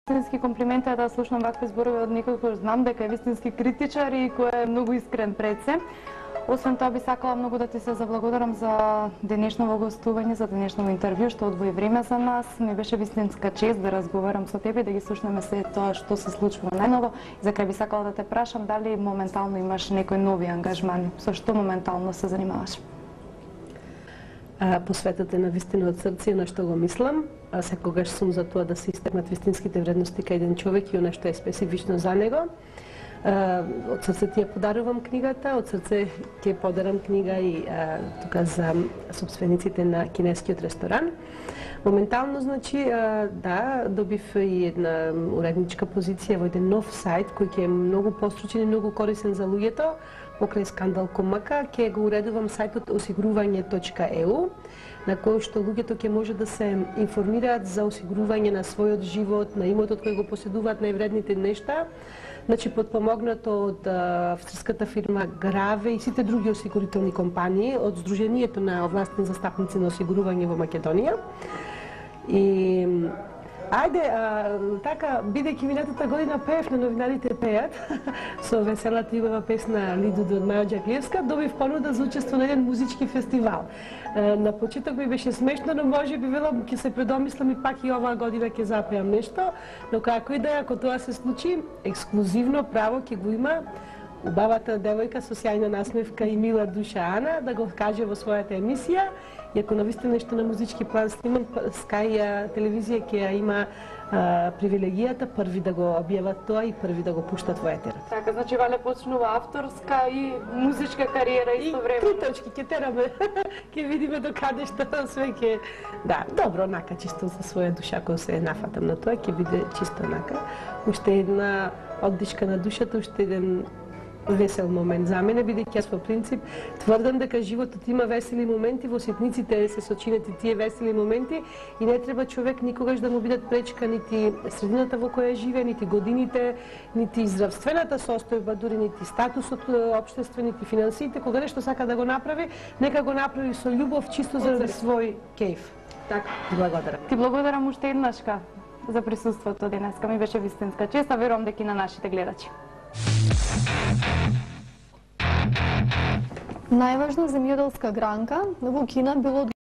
Вистински комплимент е да слушнам вакви зборови од некој кој знам дека е вистински критичар и кој е многу искрен пред се. Освен тоа би сакала многу да ти се заблагодарам за денешното гостување, за денешното интервју, што одвои време за нас. Ми беше вистинска чест да разговарам со тебе, да ги слушнеме се тоа што се случува најново. И за крај би сакала да те прашам дали моментално имаш некои нови ангажмани, со што моментално се занимаваш? Посветете на вистина од срце на што го мислам. Секогаш сум за тоа да се истакнат вистинските вредности кај еден човек и она што е специфично за него. Од срце ти ја подарувам книгата, од срце ќе подарам книга и тука за собствениците на кинескиот ресторан. Моментално, значи, да, добив и една уредничка позиција во еден нов сајт кој ќе е многу постручен и многу корисен за луѓето. Покрај Скандал.мк ќе го уредувам сајтот осигурување.eu, на кој што луѓето ќе може да се информираат за осигурување на својот живот, на имотот кој го поседуваат, највредните нешта. Значи, подпомогнато од австриската фирма Граве и сите други осигурителни компании, од Сдруженијето на овластени застапници на осигурување во Македонија. И ајде, така, бидејќи минатата година пеев на Новинарите пеат, со веселата љубава песна Лидуду од Маја Ѓаклиевска, добив понуда за учество на еден музички фестивал. На почеток ми беше смешно, но може би велам ќе се предомислам и пак и оваа година ќе запеам нешто, но како и да е, ако тоа се случи, ексклузивно право ќе го има убавата девојка со сјајна насмевка и мила душа Ана да го каже во својата емисија. И ако навистина нешто на музички план снимам, Sky телевизија ќе ја има привилегијата први да го објават тоа и први да го пуштат во етерот. Така, значи Вале почнува авторска и музичка кариера истовремено. И три точки ќе тераме, ќе видиме до каде што све ќе... Да, добро, онака, чисто за своја душа, кој се нафатам на тоа, ќе биде чисто онака. Уште една оддишка на душата, уште еден весел момент за мене, бидејќи јас по принцип тврдам дека животот има весели моменти, во ситниците се сочинети тие весели моменти и не треба човек никогаш да му бидат пречка нити средината во која живее, нити годините, нити здравствената состојба, дури нити статусот општествен, нити финансиите. Кога нешто сака да го направи, нека го направи со љубов, чисто заради свој кејф. Така, благодарам. Ти благодарам уште еднашка за присуството денеска. Ми беше вистинска чест, а верувам дека и на нашите гледачи. Најважна земјоделска гранка во Кина било